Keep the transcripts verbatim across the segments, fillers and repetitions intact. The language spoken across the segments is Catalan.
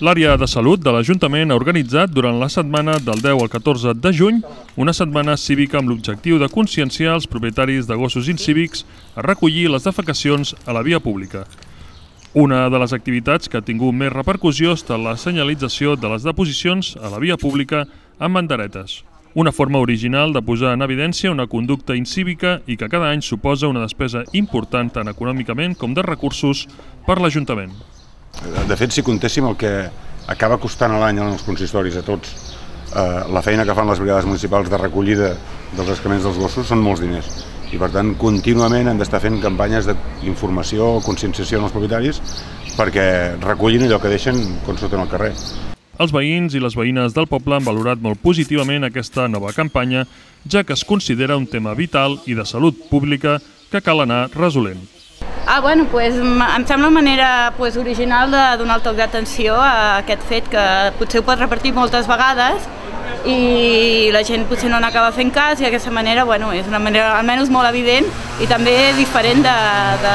L'àrea de salut de l'Ajuntament ha organitzat durant la setmana del deu al catorze de juny una setmana cívica amb l'objectiu de conscienciar els propietaris de gossos incívics a recollir les defecacions a la via pública. Una de les activitats que ha tingut més repercussió ha estat la senyalització de les deposicions a la via pública amb banderetes. Una forma original de posar en evidència una conducta incívica i que cada any suposa una despesa important tant econòmicament com de recursos per l'Ajuntament. De fet, si comptéssim el que acaba costant a l'any als consistoris a tots, eh, la feina que fan les brigades municipals de recollida dels excrements dels gossos són molts diners. I per tant, contínuament hem d'estar fent campanyes d'informació o conscienciació als propietaris perquè recullin allò que deixen quan surten al carrer. Els veïns i les veïnes del poble han valorat molt positivament aquesta nova campanya, ja que es considera un tema vital i de salut pública que cal anar resolent. Ah, bueno, pues, em sembla una manera pues, original de donar el toc d'atenció a aquest fet que potser ho pot repetir moltes vegades i la gent potser no n'acaba fent cas i d'aquesta manera bueno, és una manera almenys molt evident i també diferent de, de,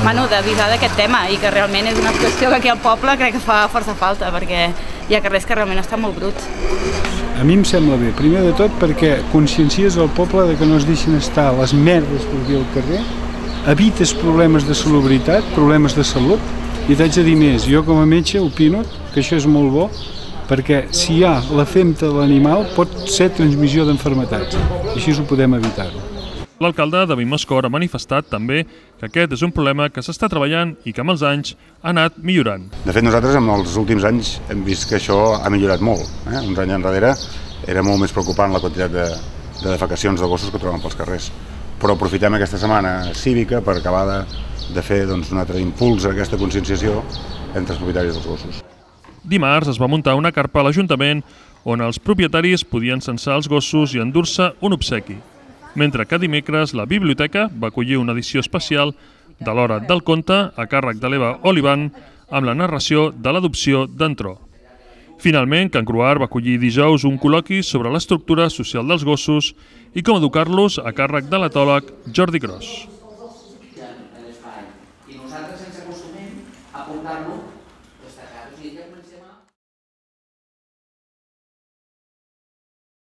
bueno, d'avisar d'aquest tema i que realment és una qüestió que aquí al poble crec que fa força falta perquè hi ha carrers que realment estan molt bruts. A mi em sembla bé, primer de tot perquè consciencies al poble de que no es deixin estar les merdes per aquí al carrer, evites problemes de salubritat, problemes de salut, i t'haig de dir més, jo com a metge opino que això és molt bo, perquè si hi ha la femta de l'animal pot ser transmissió d'enfermetats, i així ho podem evitar-ho. L'alcalde David Moscor ha manifestat també que aquest és un problema que s'està treballant i que amb els anys ha anat millorant. De fet, nosaltres en els últims anys hem vist que això ha millorat molt. Eh? Uns anys enrere era molt més preocupant la quantitat de, de defecacions de gossos que troben pels carrers. Però aprofitem aquesta setmana cívica per acabar de, de fer doncs, un altre impuls a aquesta conscienciació entre els propietaris dels gossos. Dimarts es va muntar una carpa a l'Ajuntament on els propietaris podien censar els gossos i endur-se un obsequi, mentre que dimecres la biblioteca va acollir una edició especial de l'Hora del Conte a càrrec de l'Eva Olivan amb la narració de l'adopció d'en Tro. Finalment, Can Cruar va acollir dijous un col·loqui sobre l'estructura social dels gossos i com educar-los a càrrec de l'etòleg Jordi Gros. I nosaltres ens acostumem a portar-lo